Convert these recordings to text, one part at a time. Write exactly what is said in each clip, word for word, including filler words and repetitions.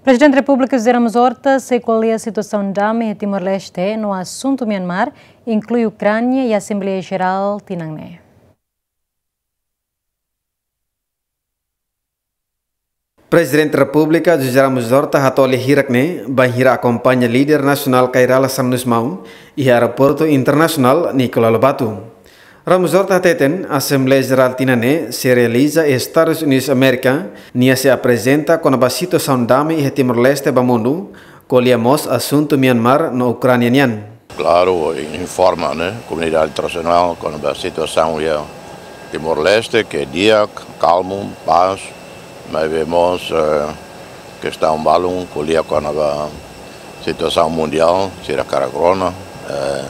Prezidente Repúblika José Ramos Horta sei ko'alia situasaun dame iha Timor-Leste no asuntu Myanmar, inklui Ukránia, iha Asembleia Jerál tinan ne'e. Prezidente Repúblika José Ramos Horta hato'o lia hirak ne'e bainhira akompaña líder nasionál Kay Rala sanulu-resin-maun iha Aeroportu Internasionál Nicolau Lobato. Ramos Horta hateten, Asembleia Jerál tinan ne'e sei realiza iha Estadus Unidus Amérika, nia sei aprezenta kona-ba situasaun dame iha Timor-Leste ba mundu, ko'alia mós asuntu Myanmar no Ukránia nian. Klaru, informa, ne'e, komunidade internasionál kona-ba situasaun iha Timor-Leste, ke di'ak, kalmu, pás, maibé mós, eh, kestaun balun, ko'alia kona-ba situasaun mundiál, sira hakarak rona, eh,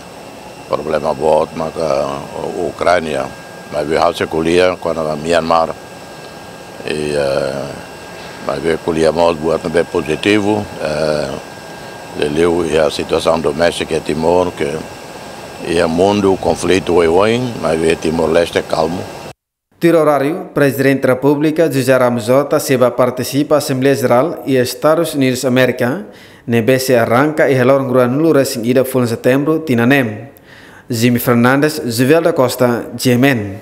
problema boot maka Ukránia, maibé ha'u sei ko'alia kona-ba Myanmar, i, eh, maibé ko'alia mós buat ne'ebé pozitivu, eh, liuliu iha situasaun doméstika iha Timor, ke iha mundu konflitu oioin, maibé Timor-Leste kalmu. Tuir oráriu, Prezidente Repúblika José Ramos Horta sei bá partisipa Asembleia Jerál iha Estadus Unidus Amérika, ne'ebé sei arranka iha loron ruanulu-resin-ida fulan Setembru tinan ne'e. Jimmy Fernandes, Juvel da Costa, G M N.